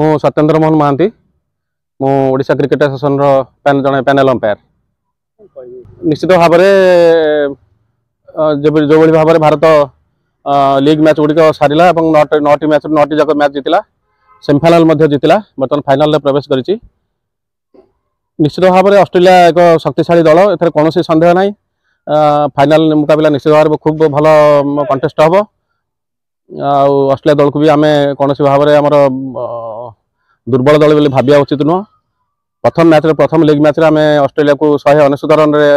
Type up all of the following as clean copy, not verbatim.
ମୁଁ ସତ୍ୟେନ୍ଦ୍ର ମୋହନ ମହାନ୍ତି, ମୁଁ ଓଡ଼ିଶା କ୍ରିକେଟ ଆସୋସିଏସନର ଜଣେ ପ୍ୟାନେଲ ଅମ୍ପାୟାର। ନିଶ୍ଚିତ ଭାବରେ ଯେବେ ଯେଉଁଭଳି ଭାବରେ ଭାରତ ଲିଗ୍ ମ୍ୟାଚ୍ ଗୁଡ଼ିକ ସାରିଲା ଏବଂ ନଅଟି ମ୍ୟାଚ୍ରୁ 9ଟି ଯାକ ମ୍ୟାଚ୍ ଜିତିଲା, ସେମିଫାଇନାଲ ମଧ୍ୟ ଜିତିଲା, ବର୍ତ୍ତମାନ ଫାଇନାଲରେ ପ୍ରବେଶ କରିଛି। ନିଶ୍ଚିତ ଭାବରେ ଅଷ୍ଟ୍ରେଲିଆ ଏକ ଶକ୍ତିଶାଳୀ ଦଳ, ଏଥିରେ କୌଣସି ସନ୍ଦେହ ନାହିଁ। ଫାଇନାଲ ମୁକାବିଲା ନିଶ୍ଚିତ ଭାବରେ ଖୁବ୍ ଭଲ କଣ୍ଟେଷ୍ଟ ହେବ। ଆଉ ଅଷ୍ଟ୍ରେଲିଆ ଦଳକୁ ବି ଆମେ କୌଣସି ଭାବରେ ଆମର ଦୁର୍ବଳ ଦଳ ବୋଲି ଭାବିବା ଉଚିତ ନୁହଁ। ପ୍ରଥମ ମ୍ୟାଚ୍ରେ, ପ୍ରଥମ ଲିଗ୍ ମ୍ୟାଚ୍ରେ ଆମେ ଅଷ୍ଟ୍ରେଲିଆକୁ 199 ରନ୍ରେ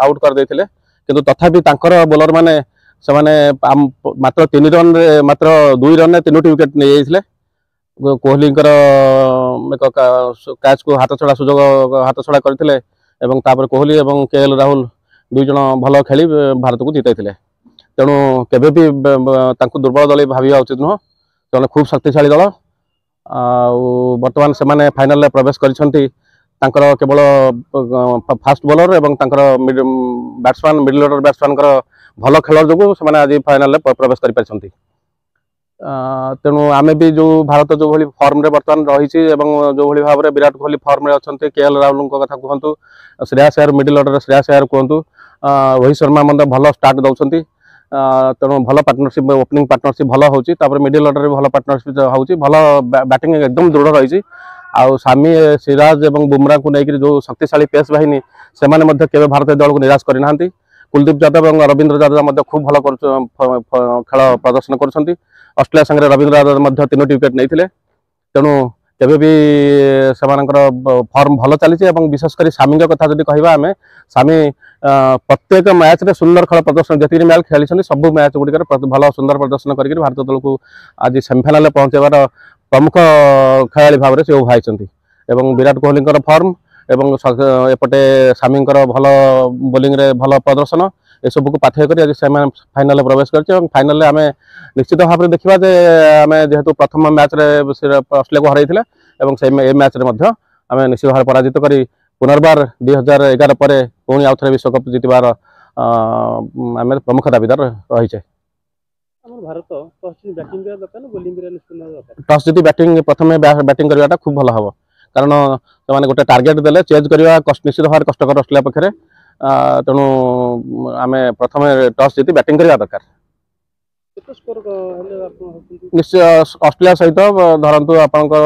ଆଉଟ୍ କରିଦେଇଥିଲେ। କିନ୍ତୁ ତଥାପି ତାଙ୍କର ବୋଲରମାନେ ସେମାନେ ମାତ୍ର 3 ରନ୍ରେ, ମାତ୍ର 2 ରନ୍ରେ 3ଟି ୱିକେଟ୍ ନେଇଯାଇଥିଲେ। କୋହଲିଙ୍କର ଏକ କ୍ୟାଚ୍କୁ ହାତଛଡ଼ା ସୁଯୋଗ ହାତଛଡ଼ା କରିଥିଲେ ଏବଂ ତାପରେ କୋହଲି ଏବଂ କେ ଏଲ୍ ରାହୁଲ 2 ଜଣ ଭଲ ଖେଳି ଭାରତକୁ ଜିତାଇଥିଲେ। ତେଣୁ କେବେ ବି ତାଙ୍କୁ ଦୁର୍ବଳ ଦଳ ଭାବିବା ଉଚିତ ନୁହଁ। ସେମାନେ ଖୁବ୍ ଶକ୍ତିଶାଳୀ ଦଳ ଆଉ ବର୍ତ୍ତମାନ ସେମାନେ ଫାଇନାଲରେ ପ୍ରବେଶ କରିଛନ୍ତି। ତାଙ୍କର କେବଳ ଫାଷ୍ଟ ବୋଲର ଏବଂ ତାଙ୍କର ବ୍ୟାଟ୍ସମ୍ୟାନ୍, ମିଡଲ ଅର୍ଡର ବ୍ୟାଟ୍ସମ୍ୟାନଙ୍କର ଭଲ ଖେଳ ଯୋଗୁଁ ସେମାନେ ଆଜି ଫାଇନାଲରେ ପ୍ରବେଶ କରିପାରିଛନ୍ତି। ତେଣୁ ଆମେ ବି ଯେଉଁ ଭାରତ ଯେଉଁଭଳି ଫର୍ମରେ ବର୍ତ୍ତମାନ ରହିଛି ଏବଂ ଯେଉଁଭଳି ଭାବରେ ବିରାଟ କୋହଲି ଫର୍ମରେ ଅଛନ୍ତି, କେ ଏଲ୍ ରାହୁଲଙ୍କ କଥା କୁହନ୍ତୁ, ଶ୍ରେୟାସ ଆୟର, ମିଡଲ ଅର୍ଡର ଶ୍ରେୟାସ ଆୟର କୁହନ୍ତୁ, ରୋହିତ ଶର୍ମା ମଧ୍ୟ ଭଲ ଷ୍ଟାର୍ଟ ଦେଉଛନ୍ତି। ତେଣୁ ଭଲ ପାର୍ଟନରସିପ୍, ଓପନିଂ ପାର୍ଟନରସିପ୍ ଭଲ ହେଉଛି। ତାପରେ ମିଡିଲ ଅର୍ଡରରେ ଭଲ ପାର୍ଟନରସିପ୍ ହେଉଛି, ଭଲ ବ୍ୟାଟିଂ ଏକଦମ ଦୃଢ଼ ରହିଛି। ଆଉ ସାମି, ସିରାଜ ଏବଂ ବୁମରାଙ୍କୁ ନେଇକରି ଯେଉଁ ଶକ୍ତିଶାଳୀ ପେସ୍ ବାହିନୀ, ସେମାନେ ମଧ୍ୟ କେବେ ଭାରତୀୟ ଦଳକୁ ନିରାଶ କରିନାହାନ୍ତି। କୁଲଦୀପ ଯାଦବ ଏବଂ ରବୀନ୍ଦ୍ର ଯାଦବ ମଧ୍ୟ ଖୁବ୍ ଭଲ ଖେଳ ପ୍ରଦର୍ଶନ କରୁଛନ୍ତି। ଅଷ୍ଟ୍ରେଲିଆ ସାଙ୍ଗରେ ରବୀନ୍ଦ୍ର ଯାଦବ ମଧ୍ୟ 3ଟି ୱିକେଟ୍ ନେଇଥିଲେ। ତେଣୁ କେବେ ବି ସେମାନଙ୍କର ଫର୍ମ ଭଲ ଚାଲିଛି। ଏବଂ ବିଶେଷ କରି ସାମିଙ୍କ କଥା ଯଦି କହିବା ଆମେ, ସାମି ପ୍ରତ୍ୟେକ ମ୍ୟାଚ୍ରେ ସୁନ୍ଦର ଖେଳ ପ୍ରଦର୍ଶନ, ଯେତିକି ମ୍ୟାଚ୍ ଖେଳିଛନ୍ତି ସବୁ ମ୍ୟାଚ୍ ଗୁଡ଼ିକରେ ଭଲ ସୁନ୍ଦର ପ୍ରଦର୍ଶନ କରିକି ଭାରତ ଦଳକୁ ଆଜି ସେମିଫାଇନାଲରେ ପହଞ୍ଚାଇବାର ପ୍ରମୁଖ ଖେଳାଳି ଭାବରେ ସେ ଉଭା ହେଇଛନ୍ତି। ଏବଂ ବିରାଟ କୋହଲିଙ୍କର ଫର୍ମ ଏବଂ ଏପଟେ ସାମିଙ୍କର ଭଲ ବୋଲିଂରେ ଭଲ ପ୍ରଦର୍ଶନ, ଏସବୁକୁ ପାଥେୟ କରି ଆଜି ସେମାନେ ଫାଇନାଲରେ ପ୍ରବେଶ କରିଛି। ଏବଂ ଫାଇନାଲରେ ଆମେ ନିଶ୍ଚିତ ଭାବରେ ଦେଖିବା ଯେ ଆମେ ଯେହେତୁ ପ୍ରଥମ ମ୍ୟାଚ୍ରେ ଅଷ୍ଟ୍ରେଲିଆକୁ ହରାଇଥିଲେ ଏବଂ ସେ ଏ ମ୍ୟାଚ୍ରେ ମଧ୍ୟ ଆମେ ନିଶ୍ଚିତ ଭାବରେ ପରାଜିତ କରି ପୁନର୍ବାର 2011 ପରେ ପୁଣି ଆଉ ଥରେ ବିଶ୍ୱକପ୍ ଜିତିବାର ଆମେ ପ୍ରମୁଖ ଦାବିଦାର ରହିଛେ। ଆମର ଭାରତ ଟସ୍ ବ୍ୟାଟିଂ କରିବା ଦରକାର ନା ବୋଲିଂ କରିବା ନିଷ୍ପତ୍ତି ନେବା ଦରକାର? ଟସ୍ ଜିତି ବ୍ୟାଟିଂ, ପ୍ରଥମେ ବ୍ୟାଟିଂ କରିବାଟା ଖୁବ୍ ଭଲ ହେବ। କାରଣ ସେମାନେ ଗୋଟେ ଟାର୍ଗେଟ୍ ଦେଲେ ଚେଜ୍ କରିବା ନିଶ୍ଚିତ ଭାବରେ କଷ୍ଟକର ଅଷ୍ଟ୍ରେଲିଆ ପାଖରେ। ତେଣୁ ଆମେ ପ୍ରଥମେ ଟସ୍ ଜିତି ବ୍ୟାଟିଂ କରିବା ଦରକାର। କେତେ ସ୍କୋର ହେଲେ ଆପଣ ଭାବୁଛନ୍ତି? ନିଶ୍ଚୟ ଅଷ୍ଟ୍ରେଲିଆ ସହିତ ଧରନ୍ତୁ ଆପଣଙ୍କର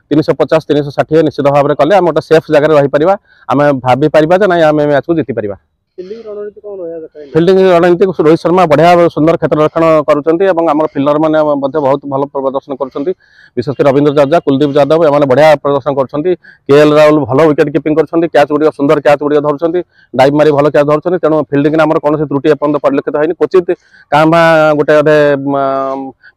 350, 360 ନିଶ୍ଚିତ ଭାବରେ କଲେ ଆମେ ଗୋଟେ ସେଫ୍ ଜାଗାରେ ରହିପାରିବା। ଆମେ ଭାବିପାରିବା ଯେ ନାଇଁ, ଆମେ ମ୍ୟାଚ୍କୁ ଜିତିପାରିବା। ଫିଲ୍ଡିଂ ରଣନୀତି କ'ଣ ରହିବା ଦରକାର? ଫିଲ୍ଡିଂ ରଣନୀତି, ରୋହିତ ଶର୍ମା ବଢ଼ିଆ ସୁନ୍ଦର କ୍ଷେତ୍ର ରକ୍ଷଣ କରୁଛନ୍ତି ଏବଂ ଆମର ଫିଲ୍ଡର ମାନେ ମଧ୍ୟ ବହୁତ ଭଲ ପ୍ରଦର୍ଶନ କରୁଛନ୍ତି। ବିଶେଷ କରି ରବୀନ୍ଦ୍ର ଜାଡେଜା, କୁଲଦୀପ ଯାଦବ ଏମାନେ ବଢ଼ିଆ ପ୍ରଦର୍ଶନ କରୁଛନ୍ତି। କେ ଏଲ୍ ରାହୁଲ ଭଲ ୱିକେଟ୍ କିପିଂ କରୁଛନ୍ତି, କ୍ୟାଚ୍ ଗୁଡ଼ିକ ସୁନ୍ଦର କ୍ୟାଚ୍ ଗୁଡ଼ିକ ଧରୁଛନ୍ତି, ଡାଇଭ୍ ମାରି ଭଲ କ୍ୟାଚ୍ ଧରୁଛନ୍ତି। ତେଣୁ ଫିଲ୍ଡିଂରେ ଆମର କୌଣସି ତ୍ରୁଟି ଏପର୍ଯ୍ୟନ୍ତ ପରିଲକ୍ଷିତ ହେଇନି। କ୍ୱଚିତ କାଁ ଭାଁ ଗୋଟେ ଅଧେ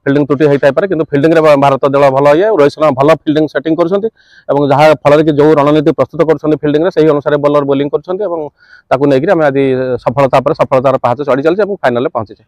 ଫିଲ୍ଡିଂ ତ୍ରୁଟି ହେଇଥାଇପାରେ, କିନ୍ତୁ ଫିଲ୍ଡିଂରେ ଭାରତ ଦଳ ଭଲ ଇଏ। ରୋହିତ ଶର୍ମା ଭଲ ଫିଲ୍ଡିଂ ସେଟିଂ କରୁଛନ୍ତି ଏବଂ ଯାହା ଫଳରେ କି ଯେଉଁ ରଣନୀତି ପ୍ରସ୍ତୁତ କରୁଛନ୍ତି ଫିଲ୍ଡିଂରେ, ସେହି ଅନୁସାରେ ବୋଲର ବୋଲିଂ କରୁଛନ୍ତି ଏବଂ ତାକୁ ନେଇକରି ଆମେ ଆଜି ସଫଳତା ପରେ ସଫଳତାର ପାହାଚ ଚଢ଼ି ଚାଲିଛି ଏବଂ ଫାଇନାଲରେ ପହଞ୍ଚିଛେ।